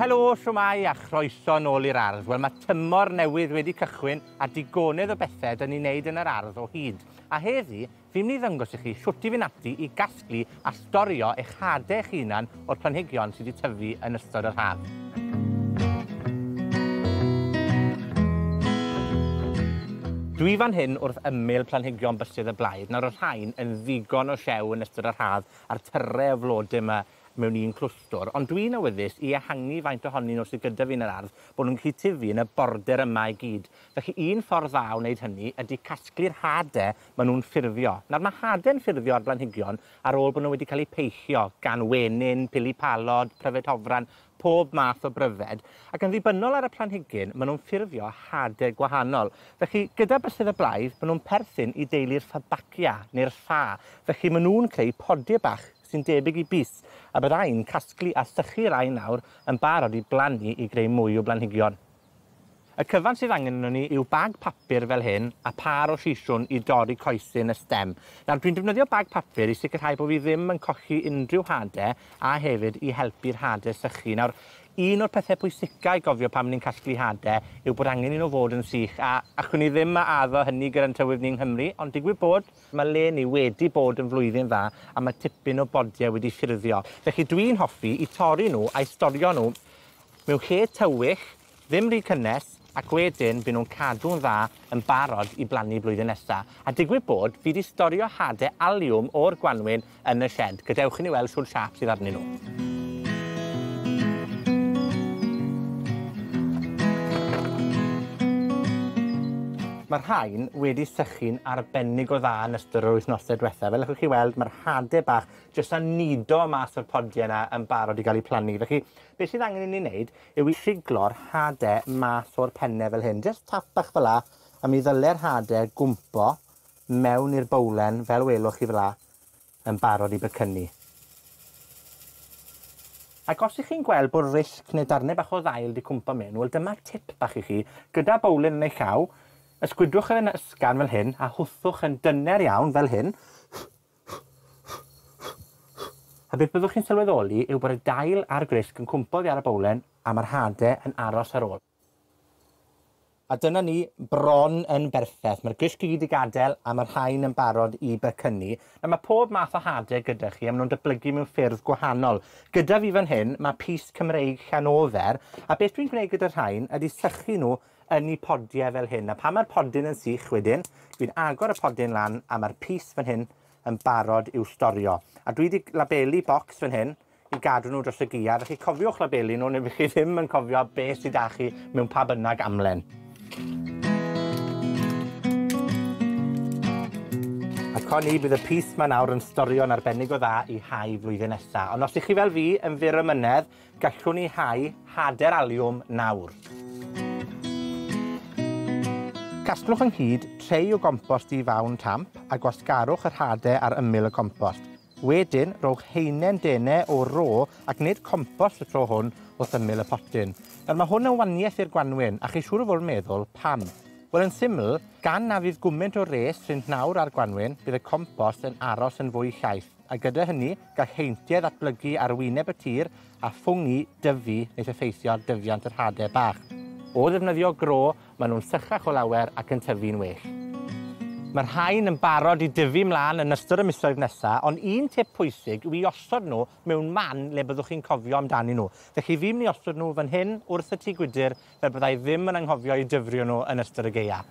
Helo, shwmae a chroeso nôl i'r ardd. Wel, mae tymor newydd wedi cychwyn a digonedd o bethau 'dyn ni'n neud yn yr ardd o hyd. A heddi, fi'n mynd i ddangos i chi shwt i fynd ati i gasglu a storio eich hade eich hunan o'r planhigion sydd wedi tyfu yn ystod yr haf. Dwi fan hyn wrth ymyl planhigion bysedd y blaidd. Nawr, y rhain yn ddigon o siew yn ystod yr haf a'r tyre o flode yma mewn un clwstwr, ond dwi'n awyddus i ehangu faint ohonyn nhw sydd gyda fi yn yr ardd, bod nhw'n gallu tyfu yn y border yma i gyd. Felly un ffordd dda o wneud hynny ydy casglu'r hade maen nhw'n ffurfio. Nawr mae hade'n ffurfio ar blanhigion ar ôl bod nhw wedi cael eu peillio gan wenyn, pili-palod, pryfed hofran, pob math o bryfed, ac yn ddibynnol ar y planhigyn, maen nhw'n ffurfio hade gwahanol. Felly, gyda bysedd y blaidd, maen nhw'n perthyn i deulu'r Fabaceae, neu'r ffa. Felly, maen nhw'n creu podie bach sy'n debyg i bys, a byddai'n casglu a sychu rai nawr yn barod i blannu i greu mwy o blanhigion. Y cyfan sydd angen arnon ni yw bag papur fel hyn a pâr o siswrn i dorri coesyn y stem. Nawr, dwi'n defnyddio bag papur i sicrhau bod fi ddim yn colli unrhyw hade a hefyd i helpu'r hade sychu. Nawr, un o'r pethau pwysica i gofio pan ni'n casglu hade yw bod angen i nhw fod yn sych, a allwn ni ddim addo hynny gyda'n tywydd ni'n Nghymru, ond digwydd bod mae le ni wedi bod yn flwyddyn dda a mae tipyn o bodiau wedi ffurfio. Felly dwi'n hoffi i torri nhw a'i storio nhw mewn lle tywyll, ddim rhy cynnes, ac wedyn byd nhw'n cadw'n dda yn barod i blannu blwyddyn nesa. A digwydd bod, fi 'di storio hade aliwm o'r gwanwyn yn y sied. Gadewch i ni weld shwd siâp sydd arnyn nhw. Mae'r rhain wedi sychu'n arbennig o dda yn ystod yr wythnose diwetha. Fel allwch chi weld, mae'r hade bach jyst yn nido mas o'r podie yna yn barod i gael eu plannu. Felly, beth sydd angen i ni wneud yw i siglo'r hade mas o'r penne fel hyn. Jyst tap bach fel 'a, a mi ddyle'r hade gwmpo mewn i'r bowlen, fel welwch chi fel 'a, yn barod i becynnu. Ac os ych chi'n gweld bod risg neu darnau bach o ddail 'di cwmpo mewn, wel dyma tip bach i chi. Gyda bowlen yn eich llaw, ysgwydwch yn ysgafn fel hyn, a hwthwch yn dyner iawn fel hyn. A beth byddwch chi'n sylweddoli yw bod y dail a'r grisg yn cwmpo oddi ar y bowlen, a ma'r hade yn aros ar ôl. A dyna ni, bron yn berffeth. Mae'r grisg i gyd 'di gadel, a ma'r rhain yn barod i becynnu. Nawr ma' pob math o hade gyda chi, a ma' nhw'n datblygu mewn ffyrdd gwahanol. Gyda fi fan hyn, ma' pys Cymreig Llanofer, a beth dwi'n gwneud gyda'r rhain ydi sychu nhw yn 'u podie fel hyn. A pan ma'r podyn yn sych wedyn, dwi'n agor y podyn lan, a ma'r pys fan hyn yn barod i'w storio. A dwi 'di labelu bocs fan hyn i gadw nhw dros y gaeaf. Felly cofiwch labelu nhw, neu fydd chi ddim yn cofio beth sydd 'da chi mewn pa bynnag amlen. A co ni, bydd y pys 'ma nawr yn storio'n arbennig o dda i hau flwyddyn nesa. Ond os ych chi fel fi yn fyr ymynedd, gallwn ni hau hade'r aliwm nawr. Casglwch ynghyd trei o gompost di fawn tamp a gwasgarwch yr hade ar ymyl y compost. Wedyn, rowch haenen dene o ro ac nid compost y tro hwn wrth ymyl y potyn. Nawr, mae hwn yn waniaeth i'r gwanwyn, a chi siŵr o fod yn meddwl, pam? Wel, yn syml, gan na fydd gwmynt o res rhynt nawr ar gwanwyn, bydd y compost yn aros yn fwy llaith, a gyda hynny, gall heintiau ddatblygu ar wyneb y tir a ffwng dyfu nes effeithio ar dyfiant yr hade bach. O ddefnyddio gro, maen nhw'n sychach o lawer ac yn tyfu'n well. Mae'r rhain yn barod i dyfu mlaen yn ystod y misoedd nesa, ond un tip pwysig yw i osod nhw mewn man le byddwch chi'n cofio amdanyn nhw. Felly fi'n mynd i osod nhw fan hyn wrth y tŷ gwydr, fel byddai ddim yn anghofio i dyfrio nhw yn ystod y gaea.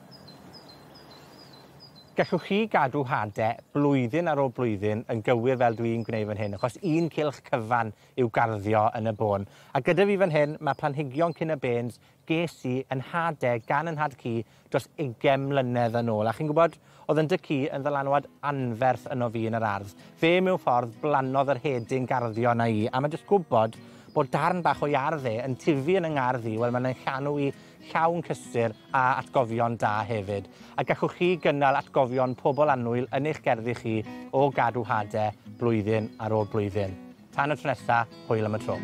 Gallwch chi gadw hade blwyddyn ar ôl blwyddyn yn gywir fel dwi'n gwneud fan hyn, achos un cylch cyfan yw garddio yn y bôn. A gyda fi fan hyn, mae planhigion cyn y bêns ges i yn hade gan 'yn nhad-cu dros 20 mlynedd yn ôl. A chi'n gwybod, oedd 'yn nhad-cu yn ddylanwad anferth yno fi yn yr ardd. Fe mewn ffordd blannodd yr hedyn garddio 'na i, a ma' jyst gwybod bod darn bach o'i ardd e yn tyfu yn 'y ngardd i, wel ma'n llanw i llawn cysur a atgofion da hefyd. A gallwch chi gynnal atgofion pobl annwyl yn eich gerddi chi o gadw hade blwyddyn ar ôl blwyddyn. Tan y tro nesa, hwyl am y tro.